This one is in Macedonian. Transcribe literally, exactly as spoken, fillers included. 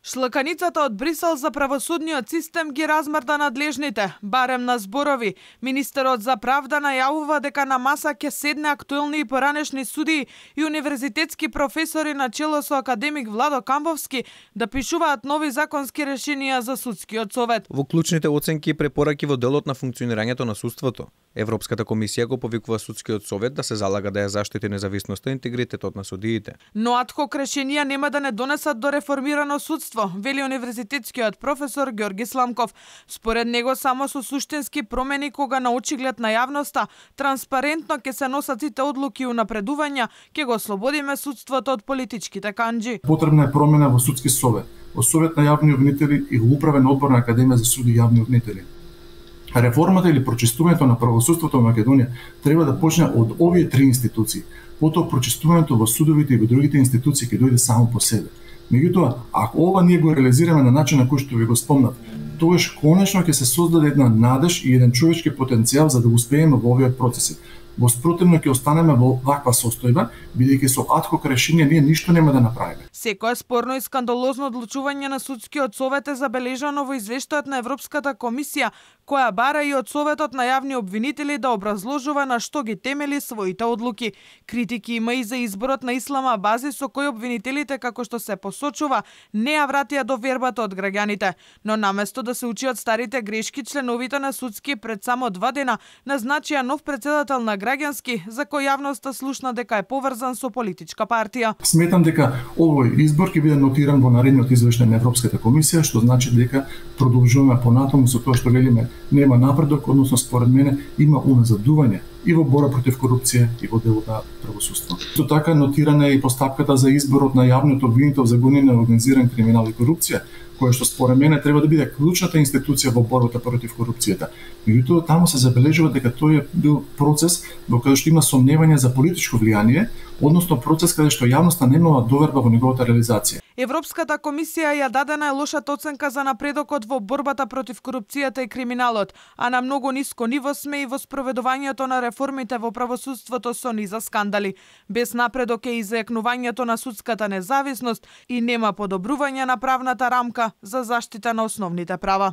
Шлаканицата од Брисел за правосудниот систем ги размрда надлежните, барем на зборови. Министерот за правда најавува дека на маса ќе седне актуелни и поранешни судии и универзитетски професори на чело со академик Владо Камбовски да пишуваат нови законски решенија за судскиот совет. Во клучните оценки и препораки во делот на функционирањето на судството, Европската комисија го повикува судскиот совет да се залага да ја заштити независноста и интегритетот на судиите. Но адхок решенија нема да не донесат до реформирано судство, вели универзитетскиот професор Ѓорги Сламков. Според него само со суштински промени кога на очиглед на јавноста транспарентно ќе се носат сите одлуки и унапредувања, ќе го ослободиме судството од политичките канџи. Потребна е промена во судски совет, во совет на јавни обвинители и во управен одбор на Академија за суди и јавни обвинители. Реформата или прочистувањето на правосудството во Македонија треба да почне од овие три институции. Потоа прочистувањето во судовите и во другите институции ќе дојде само по себе. Меѓутоа, ако ова ние го реализираме на начин на кој што ви го спомнав, тогаш конечно ќе се создаде една надеж и еден човечки потенцијал за да успееме во овие процеси. Во спротивно ќе останеме во ваква состојба, бидејќи со адхок решение ние ништо нема да направиме. Секое спорно и скандалозно одлучување на судскиот совет е забележано во извештајот на Европската комисија, која бара и од Советот на јавни обвинители да образложува на што ги темели своите одлуки. Критики има и за изборот на Ислама Абази, со кој обвинителите, како што се посочува, не ја вратија довербата од граѓаните. Но наместо да се учи од старите грешки, членовите на судски пред само два дена назначија нов претседател на граѓански, за кој јавноста слушна дека е поврзан со политичка партија. Сметам дека овој избор ќе биде нотиран во наредниот извештај на Европската комисија, што значи дека продолжуваме понатаму со тоа што велиме нема напредок, односно според мене има уназадување и во бора против корупција и во делот на правосудство. Со така нотирана е и постапката за изборот на јавниот обвинител за гонење на организиран криминал и корупција, која што според мене треба да биде клучната институција во борбата против корупцијата. Меѓутоа таму се забележува дека тој е бил процес во кој што има сомневање за политичко влијание, односно процес каде што јавноста немала доверба во неговата реализација. Европската комисија ја даде најлошата оценка за напредокот во борбата против корупцијата и криминалот, а на многу ниско ниво сме и во спроведувањето на реформите во правосудството со низа скандали. Без напредок е и зајакнувањето на судската независност и нема подобрување на правната рамка за заштита на основните права.